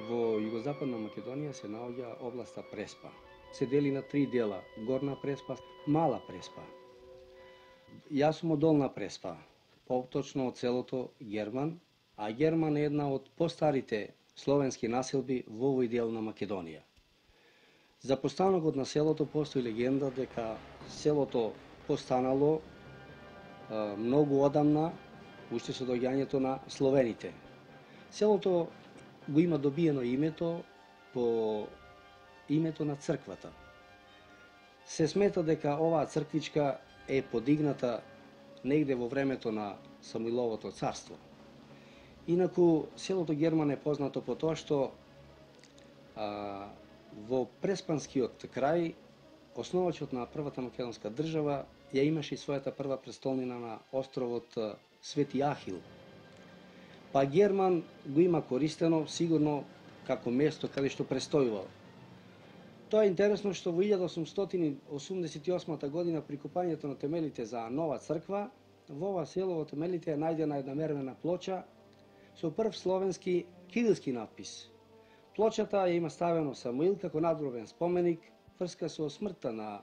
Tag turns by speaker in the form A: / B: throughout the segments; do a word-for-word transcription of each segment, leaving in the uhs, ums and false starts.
A: Во југозападна Македонија се наоѓа областа Преспа. Се дели на три дела: Горна Преспа, Мала Преспа. Јас сум од Долна Преспа, поточно од селото Герман, а Герман е една од постарите словенски населби во овој дел на Македонија. За постанокот на селото постои легенда дека селото постанало а, многу одамна, уште со доаѓањето на словените. Селото го има добиено името по името на црквата. Се смета дека оваа црквичка е подигната негде во времето на Самуиловото царство. Инаку, селото Герман е познато по тоа што а, во Преспанскиот крај основачот на првата македонска држава ја имаше и својата прва престолнина на островот Свети Ахил. Па Герман го има користено сигурно како место каде што престојувал. Тоа е интересно што во илјада осумстотини осумдесет и осма година при копањето на темелите за нова црква, во ова село во темелите е најдена една мермена плоча со прв словенски кирилски надпис. Плочата ја има ставено Самуил како надгробен споменик врска со смртта на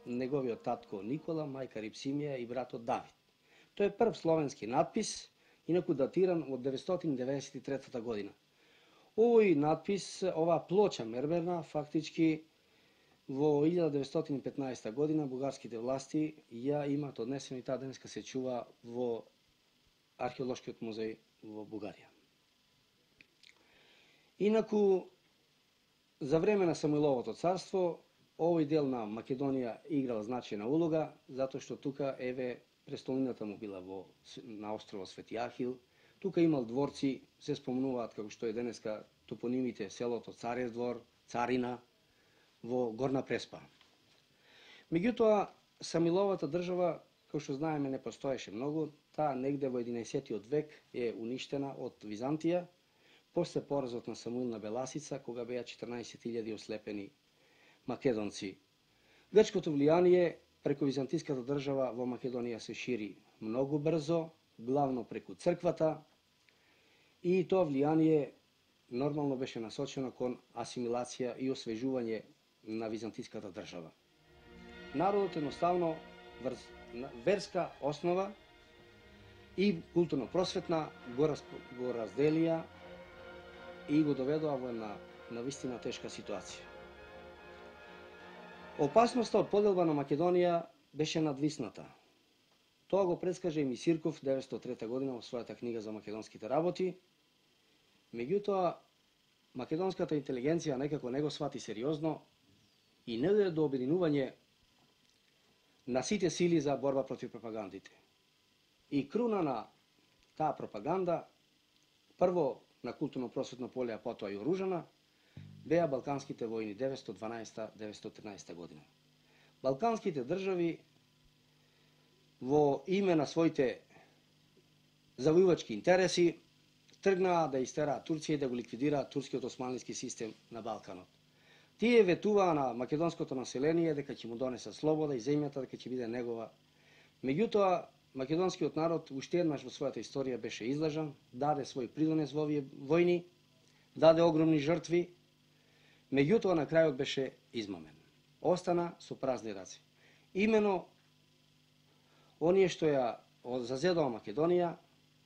A: неговиот татко Никола, мајка Рипсимија и братот Давид. Тој е прв словенски надпис, инаку датиран од деветстотини деветдесет и трета година. Овој надпис, оваа плоча мермерна, фактички во илјада деветстотини и петнаесета година бугарските власти ја имаат однесено и таа денеска се чува во археолошкиот музеј во Бугарија. Инаку, за време на Самуиловото царство, овој дел на Македонија играл значајна улога, затоа што тука, еве, престолнината му била во, на островот Свети Ахил. Тука имал дворци, се спомнуваат како што е денеска топонимите селото Царев двор, Царина, во Горна Преспа. Меѓутоа, Самуиловата држава, како што знаеме, не постоеше многу. Таа негде во единаесеттиот век е уништена од Византија, после поразот на Самуил на Беласица, кога беа четрнаесет илјади ослепени македонци. Грчкото влијание преку византиската држава во Македонија се шири многу брзо, главно преку црквата, и тоа влијание нормално беше насочено кон асимилација и освежување на византиската држава. Народот едноставно врз верска основа и културно-просветна го, раз, го разделија и го доведоа во една навистина тешка ситуација. Опасноста од поделба на Македонија беше надвисната. Тоа го предскаже и Мисирков деветстотини и трета година во својата книга за македонските работи. Меѓутоа, македонската интелигенција некако не го свати сериозно и не дојде до обединување на сите сили за борба против пропагандите. И круна на таа пропаганда, прво на културно-просветно поле, а потоа и оружана, беа Балканските војни деветстотини и дванаесета до деветстотини и тринадесета година. Балканските држави во име на своите завојувачки интереси тргнаа да истераат Турција и да го ликвидираат турскиот османлиски систем на Балканот. Тие ветуваа на македонското население дека ќе му донесат слобода и земјата дека ќе биде негова. Меѓутоа, македонскиот народ уште еднаш во својата историја беше излажан, даде свој придонес во овие војни, даде огромни жртви, меѓутоа на крајот беше измамен. Остана со празни раце. Имено оние што ја зазедоа Македонија,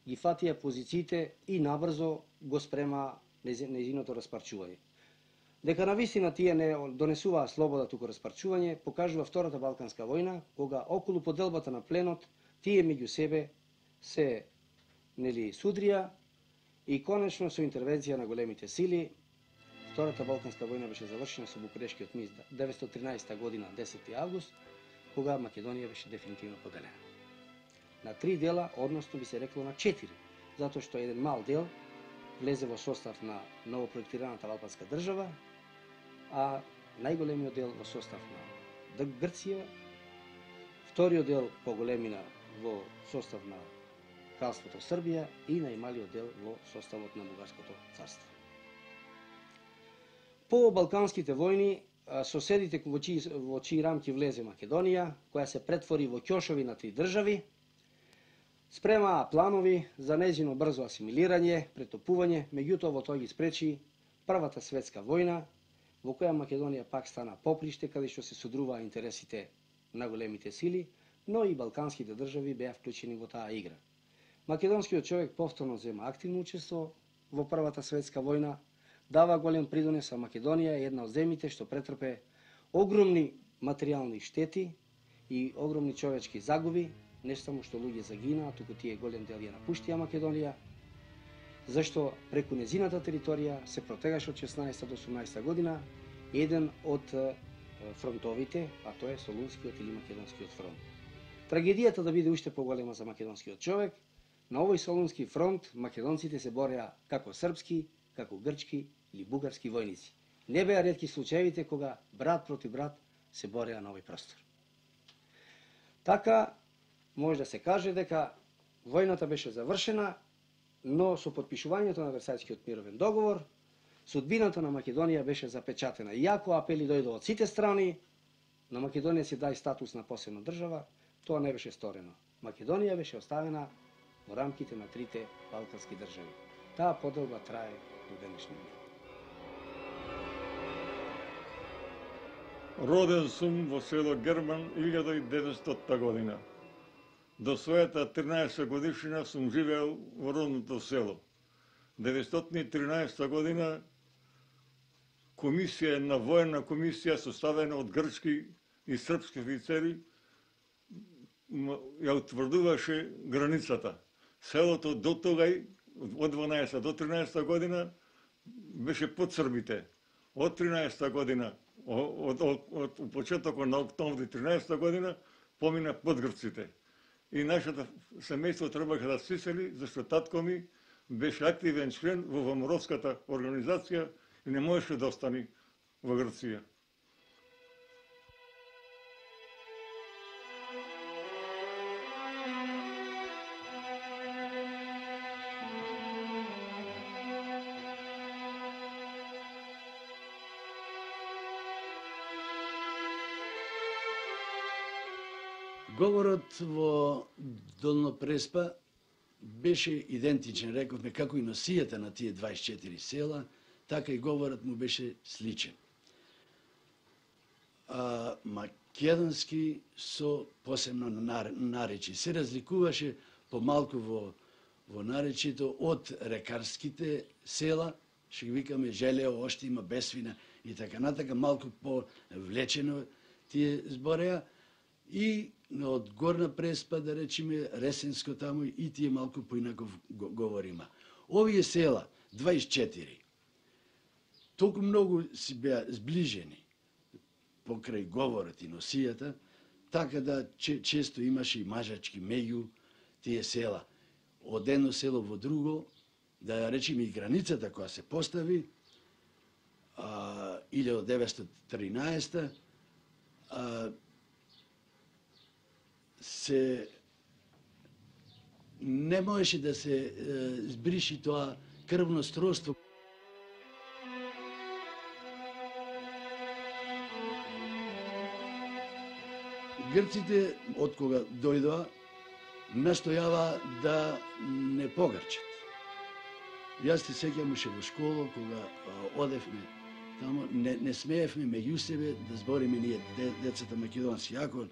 A: ги фатија позициите и набрзо го спрема нејзиното распарчување. Дека навистина тие не донесуваа слобода, туку распарчување, покажува Втората Балканска војна, кога околу поделбата на пленот тие меѓу себе се нели судрија и конечно со интервенција на големите сили Втората Балканска војна беше завршена со Букурешкиот мир деветстотини и тринадесета година десети август, кога Македонија беше дефинитивно поделена на три дела, односно би се рекло на четири, затоа што еден мал дел влезе во состав на новопроектираната албанска држава, а најголемиот дел во состав на Грција, вториот дел по големина во состав на Кралството Србија и најмалиот дел во составот на Бугарското царство. По Балканските војни, соседите во чии, во чии рамки влезе Македонија, која се претвори во ќошови на три држави, спремаа планови за нејзино брзо асимилирање, претопување, меѓутоа во тоа ги спречи Првата светска војна, во која Македонија пак стана поприште каде што се содруваа интересите на големите сили, но и балканските држави беа вклучени во таа игра. Македонскиот човек повторно зема активно учество во Првата светска војна, дава голем придонес, а Македонија е една од земјите што претрпе огромни материјални штети и огромни човечки загуби, не само што луѓе загинаа, туку тие голем дел ја напуштија Македонија, зашто преку незината територија се протегаше од шеснаесетта до осумнаесетта година еден од фронтовите, а тоа е Солунскиот или Македонскиот фронт. Трагедијата да биде уште поголема за македонскиот човек, на овој Солунски фронт македонците се бореа како српски, како грчки или бугарски војници. Не беа ретки случаевите кога брат проти брат се бореа на овој простор. Така, може да се каже дека војната беше завршена, но со подпишувањето на Версајскиот мировен договор, судбината на Македонија беше запечатена. Иако апели дојдоа од сите страни, на Македонија се дај статус на посебна држава, тоа не беше сторено. Македонија беше оставена во рамките на трите балкански држави. Таа поделба трае до денешни ден.
B: Роден сум во село Герман илјада и деветстотта година. До својата тринаесетта годишнина сум живеел во родното село. деветстотини и тринаесетта година комисија, една воена комисија составена од грчки и српски офицери ја утврдуваше границата. Селото до тогај, од дванаесетта до тринаесетта година, беше под србите. Од тринаесетта година, од, од, од, од почетокот на октомври тринаесетта година, помина под грците. И нашето семејство требаше да се сели, зашто татко ми беше активен член во Ваморовската организација и не можеше да остани во Грција.
C: Говорот во Долно Преспа беше идентичен, рековме, како и носијата на тие дваесет и четири села, така и говорот му беше сличен. А, македонски со посебно наречи. Се разликуваше помалку во, во наречито од рекарските села, што ги викаме Желео, Оштима, Бесвина и така натака, малку по-влечено тие збореа, и од Горна Преспа, да речеме, Ресенско таму, и тие малку поинаков говорима. Овие села, дваесет и четири, толку многу си беа сближени покрај говорот и носијата, така да че, често имаше и мажачки меѓу тие села. Од едно село во друго, да речеме и границата која се постави, а, илјада деветстотини и тринаесетта, а, се не можеше да се е, збриши тоа крвно сродство. Грците, од кога дојдоа, настојава да не погрчат. Јас се сеќам уште во школа, кога а, одевме тамо, не, не смеевме меѓу себе да збориме ние децата македонски. Ако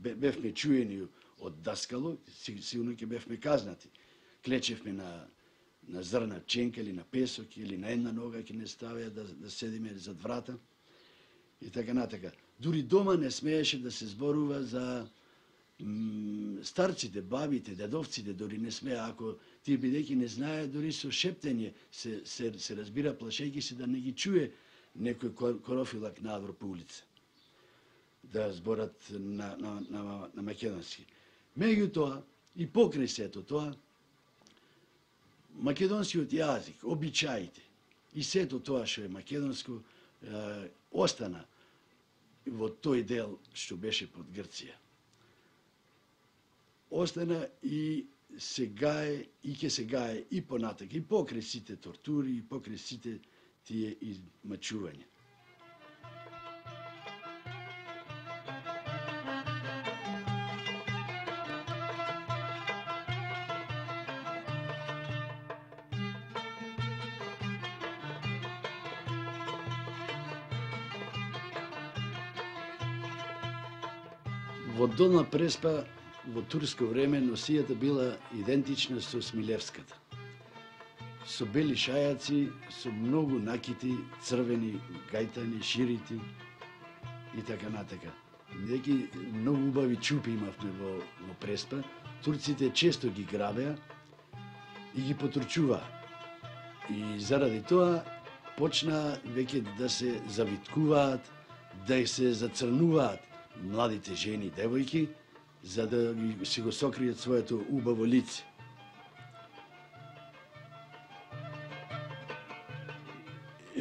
C: бевме чуени од даскало, сигурно ќе бевме казнати. Клечевме на, на зрна ченка или на песок или на една нога ќе не ставеа да, да седиме зад врата и така натака. Дури дома не смееше да се зборува за старците, бабите, дедовците, дори не смеа, ако тие бидејќи не знае, дори со шептење се, се, се разбира, плашејќи се да не ги чуе некој корофилак надвор по улица, да зборат на, на, на, на македонски. Меѓутоа, и покрај сето тоа, македонскиот јазик, обичаите и сето тоа што е македонско, е, остана во тој дел што беше под Грција. Остана и се гае, и ќе се гае и понатак, и покрај сите тортури, и покрај сите тие измачувања. Во Долна Преспа во турско време носијата била идентична со Смилевската. Со бели шајаци, со многу накити, црвени, гајтани, ширити и така натака. Неки многу убави чупи имавме во, во Преспа. Турците често ги грабеа и ги потрчуваа. И заради тоа почна веќе да се завиткуваат, да се зацрнуваат младите жени и девојки, за да си го сокријат своето убаво лице.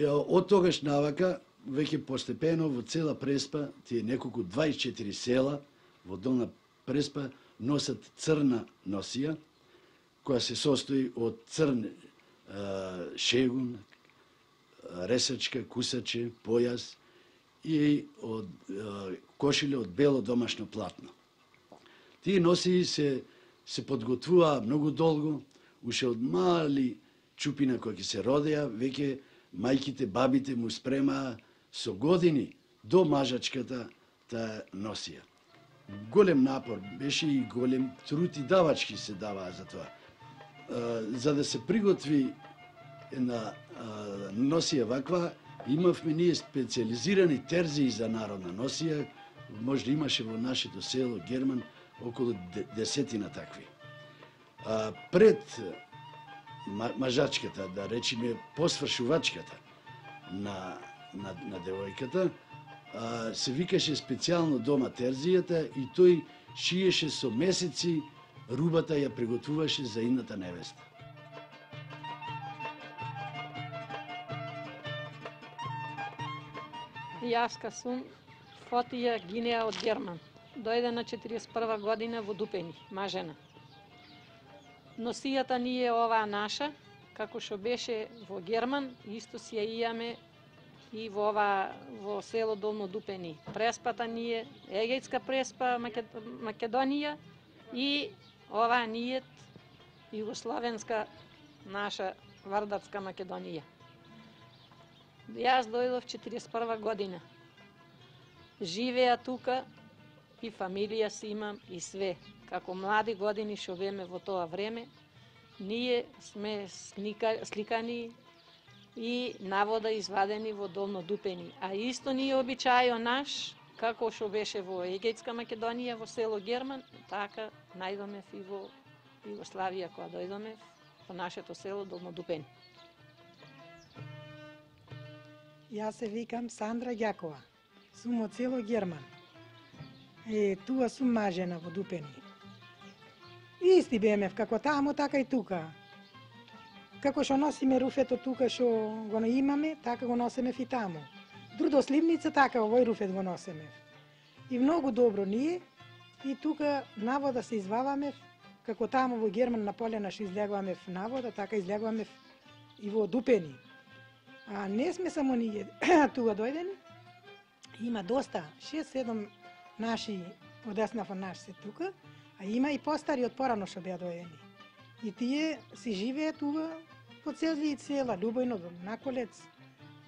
C: Од тогаш навака, веќе постепено во цела Преспа, тие неколку дваесет и четири села во Долна Преспа носат црна носија, која се состои од црн е, шегун, ресачка, кусаче, појас и од е, кошиле од бело домашно платно. Тие носии се, се подготвуваа многу долго, уште од мали чупина кои ќе се родеа, веќе мајките, бабите му спремаа со години до мажачката таа носија. Голем напор беше и голем труд и давачки се даваа за тоа. За да се приготви една носија ваква, имавме ние специализирани терзии за народна носија, може да имаше во нашето село Герман околу десетина такви. Пред мажачката, да речеме посвршувачката на, на, на девојката, а, се викаше специјално дома терзијата и тој шиеше со месеци, рубата ја приготвуваше за идната невеста.
D: Јаска сум Фотија Гинеа од Герман. Дојде на четириесет и прва година во Дупени, мажена. Носијата ни е оваа наша, како што беше во Герман, исто си ја имаме и во ова во село Долно Дупени. Преспата ни е Егејска преспа Македонија и оваа ни е југословенска наша Вардарска Македонија. Јас дојдов четириесет и прва година. Живеа тука и фамилија си имам и све. Како млади години што беме во тоа време, ние сме слика, сликани и навода извадени во Долно Дупени. А исто ни е обичајо наш, како што беше во Егејска Македонија, во село Герман, така најдоме и во Југославија, кога дојдоме во нашето село Долно Дупени.
E: Јас се викам Сандра Ѓакова. Сум од село Герман. Е, туа сум мажена во Дупени. Исти бемев, како таму, така и тука. Како што носиме руфето тука што го имаме, така го носиме и таму. Друдо сливница, така овој руфет го носиме. И многу добро ние, и тука навода се изваваме, како таму во Герман на полена што излегуваме навода, така излегуваме и во Дупени. А не сме само ние тука дојдени, има доста, шест-седум наши од Деснав наш се тука, а има и постари од порано што беа дојдени. И тие си живеат тука по цели села, Љубојно, Наколец,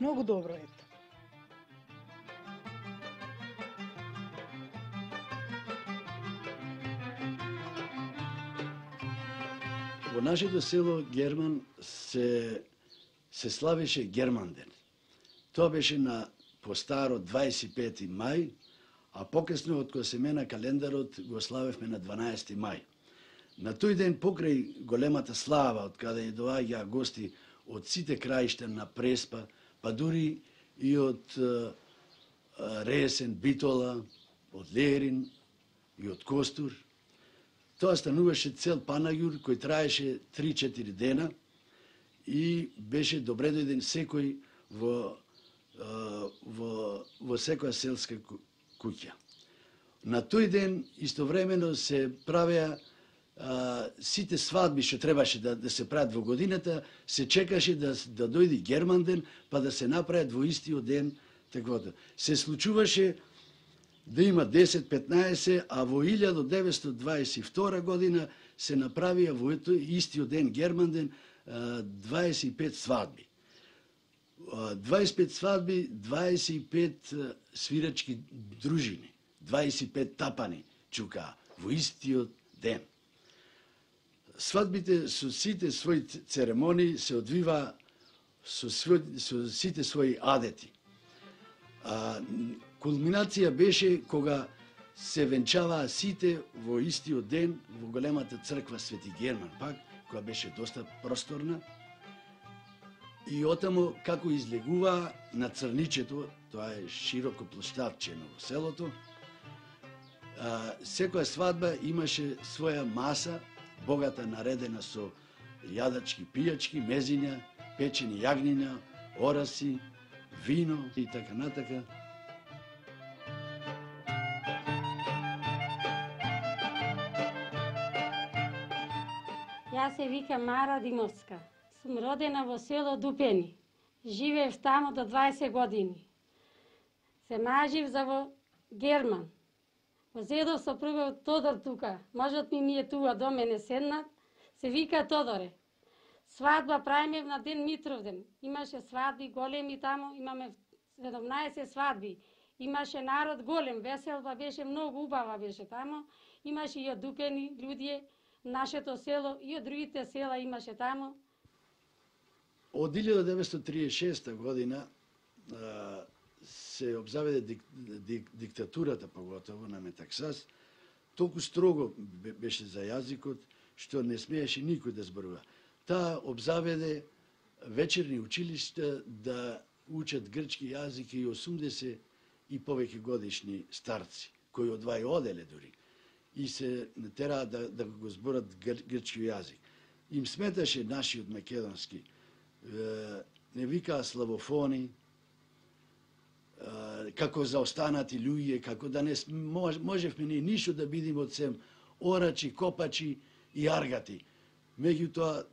E: многу добро ето.
C: Во нашето село Герман се се славеше Германден. Тоа беше на постаро дваесет и пети мај, а покасно од кога се мена календарот го славевме на дванаесети мај. На тој ден покрај големата слава, од каде доаѓаа гости од сите краишта на Преспа, па дури и од uh, Ресен, Битола, од Лерин и од Костур, тоа стануваше цел панаѓур кој траеше три-четири дена и беше добре дојден секој во, во, во секоја селска куќа. На тој ден истовремено се правеа а, сите свадби што требаше да, да се прават во годината, се чекаше да, да дојде Германден, па да се направат во истиот ден таквото. Се случуваше да има десет-петнаесет, а во илјада деветстотини дваесет и втора година се направија во истиот ден Германден дваесет и пет свадби. дваесет и пет свадби, дваесет и пет свирачки дружини, дваесет и пет тапани чука во истиот ден. Свадбите со сите своји церемонии се одвива со, свој, со сите своји адети. А, кулминација беше кога се венчаваа сите во истиот ден во големата црква Свети Герман, пак, која беше доста просторна. И отамо како излегуваа на Црничето, тоа е широко площадчено во селото, а, секоја свадба имаше своја маса, богата наредена со јадачки, пијачки, мезиња, печени јагниња,ораси, вино и така натака.
F: Јас се викам Мара Димовска. Сум родена во село Дупени. Живеев таму до дваесет години. Се мажив за во Герман. Возедов со првиот Тодор тука. Можот ми ми е туа до мене седнат. Се вика Тодоре. Свадба правиме на ден Митровден. Имаше свадби големи таму, имаме седумнаесет свадби. Имаше народ голем, веселба беше многу убава беше таму. Имаше и од Дупени луѓе, нашето село и од другите села имаше таму.
C: Од илјада деветстотини триесет и шеста година а, се обзаведе дик, дик, диктатурата, поготово на Метаксас. Толку строго беше за јазикот, што не смееше никој да зборува. Таа обзаведе вечерни училишта да учат грчки јазик и осумдесет и повеќе годишни старци, кои одвај оделе дури, и се тераа да, да го зборат гр, грчки јазик. Им сметаше нашиот македонски, не викаа славофони, како заостанати луѓе, како да не можевме ни ништо да бидеме од сем орачи, копачи и аргати. Меѓутоа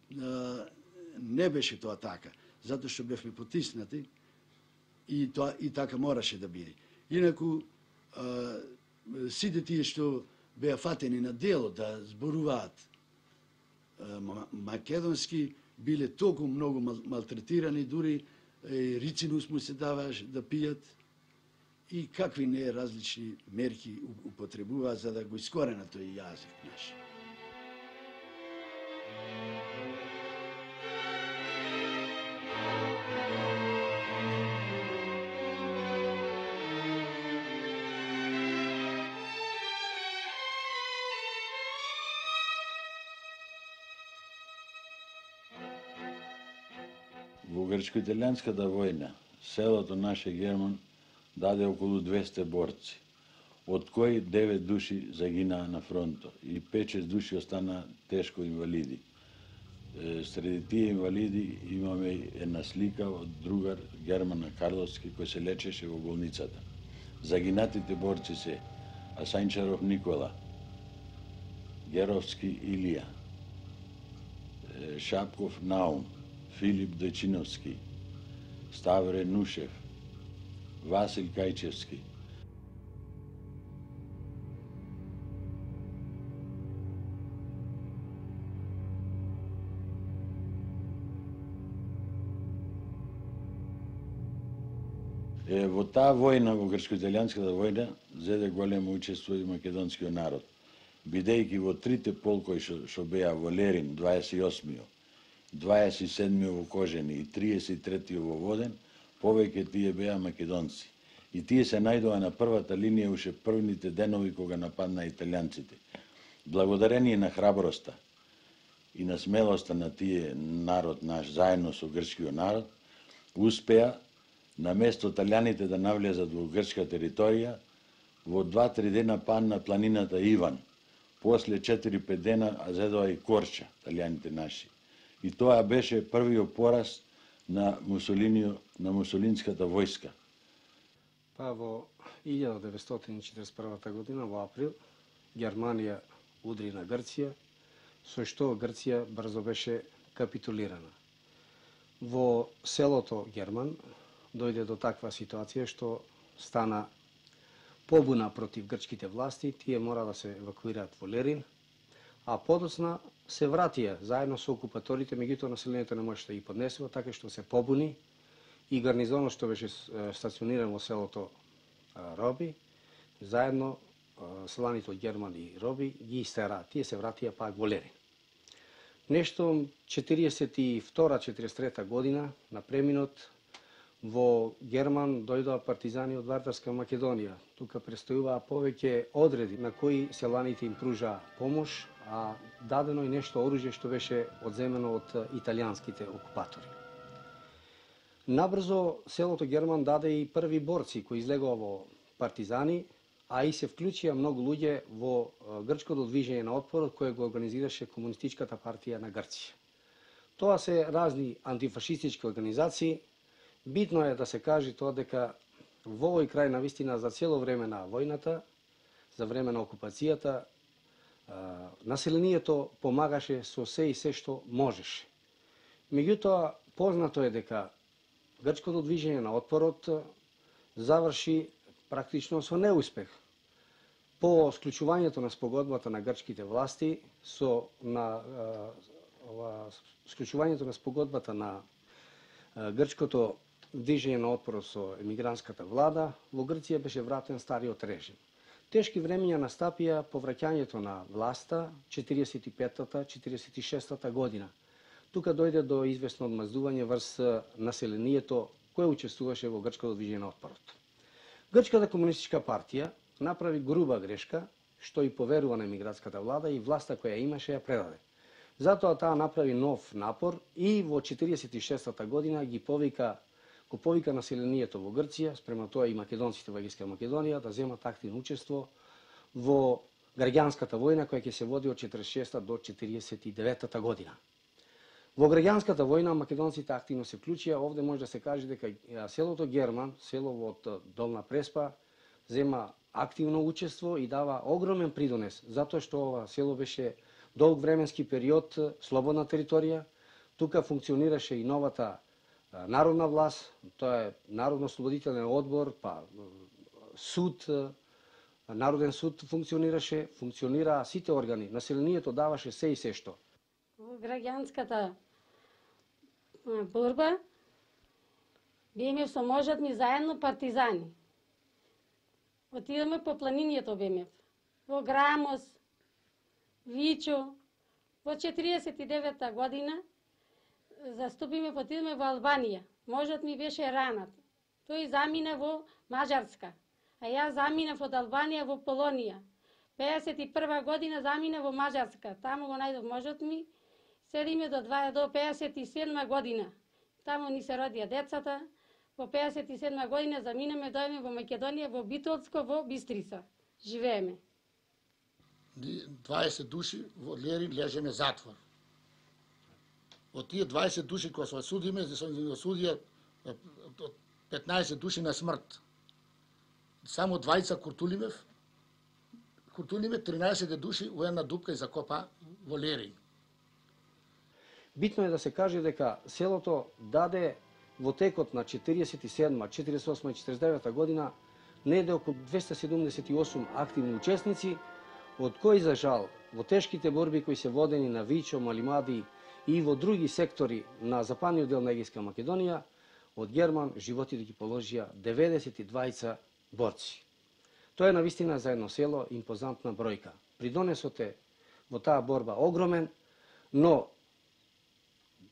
C: не беше тоа така, затоа што бевме потиснати и тоа и така мораше да биде. Инаку сите тие што беа фатени на дело да зборуваат македонски, биле толку многу малтретирани, дури рицинус му се даваш да пијат и какви не различни мерки употребуваа за да го искоренат тој јазик наш.
G: Во грчко-италијанската војна, селото наше Герман даде околу двесте борци, од кои девет души загинаа на фронтот и пет-шест души останаа тешко инвалиди. Среди тие инвалиди имаме една слика од другар Германа Карловски кој се лечеше во болницата. Загинатите борци се Асајнчаров Никола, Геровски Илија, Шапков Наум, Филип Дојчиновски, Ставре Нушев, Васил Кајчевски. Е, во таа војна, во грчко-италијанската војна, зеде големо учество и македонскиот народ, бидејќи во трите полкови што, што беа во Лерин, дваесет и осми, дваесет и седми во Кожени и триесет и трети во Воден, повеќе тие беа македонци. И тие се најдоа на првата линија уште првните денови кога нападнаа италијанците. Благодарение на храброста и на смелоста на тие народ наш, заедно со грчкиот народ, успеа на место италијаните да навлезат во грчка територија, во два-три дена падна планината Иван. После четири-пет дена зедоа и Корча, италијаните наши. И тоа беше првиот пораз на Мусолинио, на мусолинската војска.
A: Па во илјада деветстотини четиридесет и прва година, во април, Германија удри на Грција, со што Грција брзо беше капитулирана. Во селото Герман дојде до таква ситуација што стана побуна против грчките власти, тие мора да се евакуираат во Лерин, а подоцна се вратија заедно со окупаторите, меѓутоа населението не можеше да ги поднесува, така што се побуни и гарнизонот што беше стациониран во селото Роби, заедно селаните од Герман и Роби ги истера, тие се вратија пак во Лерин. Нешто четириесет и втора четириесет и трета година, на преминот, во Герман дојдоа партизани од Вардарска Македонија. Тука престојуваа повеќе одреди на кои селаните им пружаа помош, а дадено и нешто оружје што беше одземено од италијанските окупатори. Набрзо селото Герман даде и први борци кои излегоа во партизани, а и се вклучија многу луѓе во грчкото движење на отпорот кое го организираше Комунистичката партија на Грција. Тоа се разни антифашистички организации. Битно е да се каже тоа дека во овој крај навистина за цело време на војната, за време на окупацијата, населението помагаше со се и се што можеше. Меѓутоа, познато е дека грчкото движење на отпорот заврши практично со неуспех. По склучувањето на спогодбата на грчките власти, со на ова склучувањето на спогодбата на грчкото движење на отпорот со емигрантската влада, во Грција беше вратен стариот режим. Тешки времења настапија по враќањето на власта четириесет и петата четириесет и шестата година. Тука дојде до известно одмаздување врз населението кое учествуваше во грчкото движење на отпорот. Грчката комунистичка партија направи груба грешка, што и поверува на емигрантската влада и власта која имаше ја предаде. Затоа таа направи нов напор и во четириесет и шестата година ги повика го повика населението во Грција, спрема тоа и македонците во Егејска Македонија, да земат активно учество во граѓанската војна која ќе се води од четириесет и шеста до четириесет и деветата година. Во граѓанската војна македонците активно се вклучија. Овде може да се каже дека селото Герман, село од Долна Преспа, зема активно учество и дава огромен придонес, затоа што ова село беше долг временски период слободна територија. Тука функционираше и новата народна власт, тоа е Народно-ослободителен одбор, па суд, Народен суд функционираше, функционираа сите органи, населението даваше се и се што.
F: Во граѓанската борба беме со можат ми заедно партизани. Отидеме по планинието беме, во Грамос, Вичо. Во четириесет и девета година заступиме, потидеме во Албанија. Можат ми беше ранат. Тој замина во Мажарска, а јас заминав од Албанија во Полонија. пеесет и прва година замина во Мажарска, таму го најдов можат ми. Седиме до, до пеесет и седма година. Таму ни се родија децата. Во пеесет и седма година заминаме, дојме во Македонија, во Битолско, во Бистрица. Живееме.
H: дваесет души во Лерин лежеме затвор. Од тие дваесет души кои се осудиме, се осудија петнаесет души на смрт. Само двајца Куртулимев, Куртулимев тринаесет души у една дупка и закопа во Лерин.
A: Битно е да се каже дека селото даде во текот на четириесет и седма, четириесет и осма и четириесет и девета година неде околу двесте седумдесет и осум активни учесници, од кои за жал во тешките борби кои се водени на Вичо, Малимади и во други сектори на западниот дел на Егејска Македонија, од Герман животите ги положија деветдесет и двајца борци. Тоа е навистина за едно село импозантна бројка. Придонесот е во таа борба огромен, но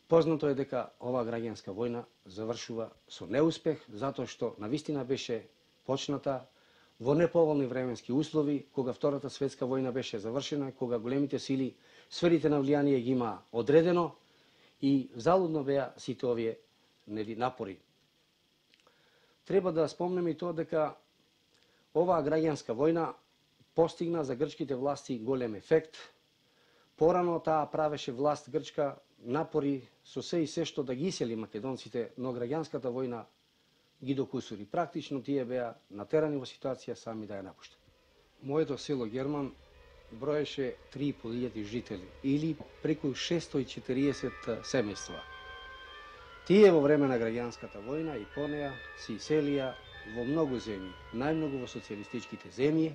A: познато е дека ова граѓанска војна завршува со неуспех, затоа што навистина беше почната во неповолни временски услови, кога Втората светска војна беше завршена, кога големите сили, сферите на влијание ги има одредено и залудно беа сите овие напори. Треба да спомнеме и тоа дека оваа граѓанска војна постигна за грчките власти голем ефект. Порано таа правеше власт грчка напори со се и се што да ги исели македонците, но граѓанската војна ги докусури. Практично тие беа натерани во ситуација сами да ја напуштат. Моето село Герман броеше три и по илјади жители или преку шестстотини и четириесет семејства. Тие во време на граѓанската војна и по неа се иселија во многу земји, најмногу во социјалистичките земји,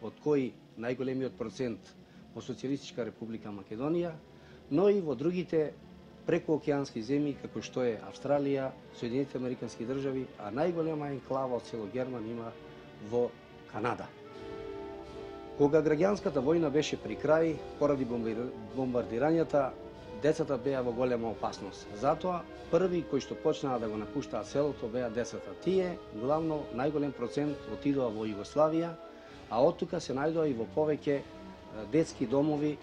A: од кои најголемиот процент во Социјалистичка република Македонија, но и во другите прекуокеански земји, како што е Австралија, Соединетите Американски држави, а најголема енклава од село Герман има во Канада. Кога граѓанската војна беше при крај, поради бомбардирањата, децата беа во голема опасност. Затоа, први кои што почнаа да го напуштаат селото беа децата. Тие, главно, најголем процент отидоа во Југославија, а оттука се најдоа и во повеќе детски домови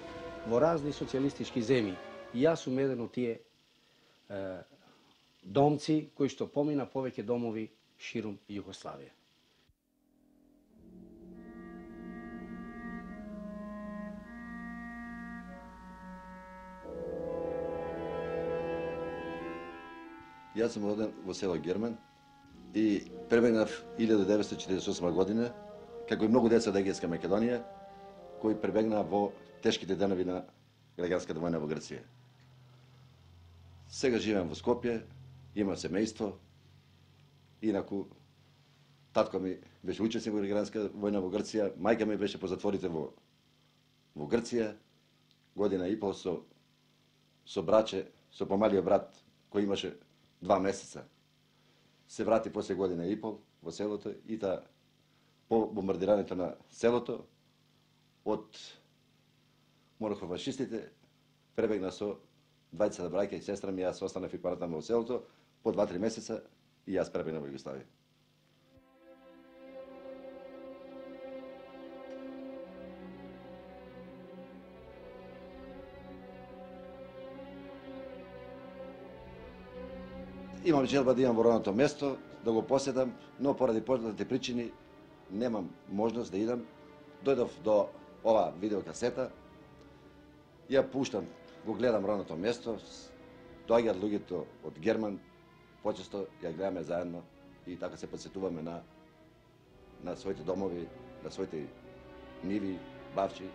A: во разни социјалистички земји. И јас сум еден од тие е, домци кои што помина повеќе домови ширум Југославија.
I: Јас сум роден во село Герман и пребегнав илјада деветстотини четиридесет и осма година, како и многу деца од Егејска Македонија, кои пребегнаа во тешките денови на граѓанската војна во Грција. Сега живеам во Скопје, имам семејство, инаку татко ми беше учесник во граѓанска војна во Грција, мајка ми беше по затворите во во Грција, година и пол со со браче, со помалиот брат кој имаше два месеца. Се врати после година и пол во селото и та по бомбардирањето на селото од монохофашистите пребегна со двајцата браќа и сестра ми, јас останав и паратам во селото по два-три месеца и јас пребегнав во Југославија. Имам желба да идам во родното место, да го поседам, но поради познати причини немам можност да идам. Дојдов до ова видеокасета, ја пуштам, го гледам родното место, доаѓаат луѓето од Герман, почесто ја гледаме заедно и така се подсетуваме на на своите домови, на своите ниви, бавчи.